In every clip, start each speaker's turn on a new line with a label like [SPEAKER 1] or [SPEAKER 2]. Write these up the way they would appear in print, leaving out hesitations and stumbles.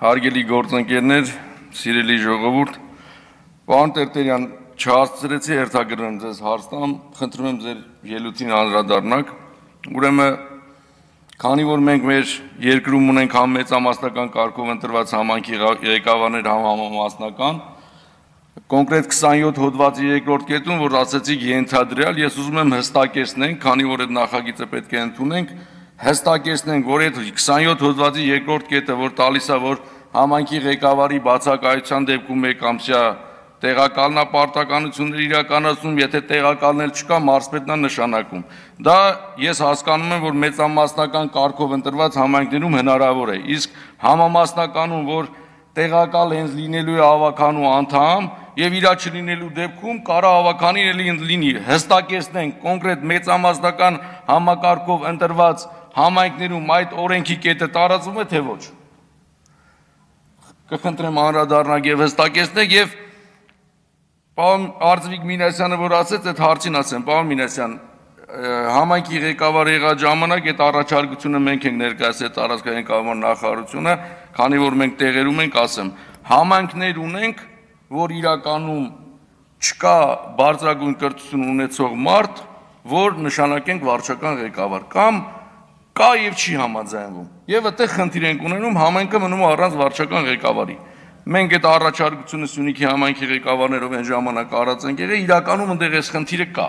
[SPEAKER 1] Հարգելի գործընկերներ, սիրելի ժողովուրդ, պարոն Տերտերյան, չհասցրեցի հերթագրեմ ձեզ հարցնամ, խնդրում եմ ձեր ելույթին անդրադառնաք, ուրեմն քանի որ մենք մեր երկրում ունենք համ մեծամասնական կարգով ընտրված համայնքի ղեկավարներ, համ համամասնական, կոնկրետ 27 հոդվածի երկրորդ կետում, որ ասեցիք ենթադրյալ, ես ուզում եմ հստակեցնենք, քանի որ այդ նախագիծը պետք է ընդունենք, հստակեցնենք, որ այդ 27 հոդվածի երկրորդ կետը, որ տալիս է, որ համայնքի ղեկավարի բացակայության դեպքում մեկամսյա տեղակալնապարտականություններ իրականացնում, եթե տեղակալներ չկա, մարզպետն է նշանակում։ Դա ես հասկանում եմ, որ մեծամասնական կարգով ընտրված համայնքներում հնարավոր է, իսկ համամասնականում, որ տեղակալ հենց լինելու է ավականու անդամ եւ իրա չլինելու դեպքում կարա ավականին էլի լինի, հստակեցնենք կոնկրետ մեծամասնական համակարգով ընտրված համայնքներում այդ օրենքի կետը տարածվում է թե ոչ։ Կխնդրեմ անդրադառնալ եւ հստակեցնել եւ պարոն Արծվիկ Մինասյանը որ ասեց այդ հարցին ասեմ, պարոն Մինասյան, համայնքի ղեկավար եղած ժամանակ այդ առաջարկությունը մենք ենք ներկայացրել տարածքային կառավարման նախարարությունը, քանի որ մենք տեղերում ենք, ասեմ, համայնքներ ունենք, որ իրականում չկա բարձրագույն կրթություն ունեցող մարդ, որ նշանակենք վարչական ղեկավար, կամ կա եւ չի համաձայնվում։ Եվ այդտեղ խնդիր ենք ունենում, համայնքը մնում է առանց վարչական ղեկավարի։ Մենք այդ առաջարկությունը Սյունիքի համայնքի ղեկավարներով այն ժամանակ արած ենք եղել, իրականում այնտեղ այս խնդիրը կա։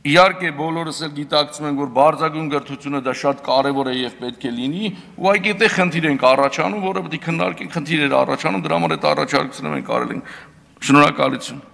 [SPEAKER 1] Իհարկե բոլորս էլ գիտակցում ենք, որ բարձրագույն կրթությունը դա շատ կարևոր է եւ պետք է լինի, ուղղակի այդտեղ խնդիր ենք առաջանում, որը պետք է քննարկենք, խնդիրներ առաջանում, դրա համար այդ առաջարկությունը մենք արել ենք։ Շնորհակալություն։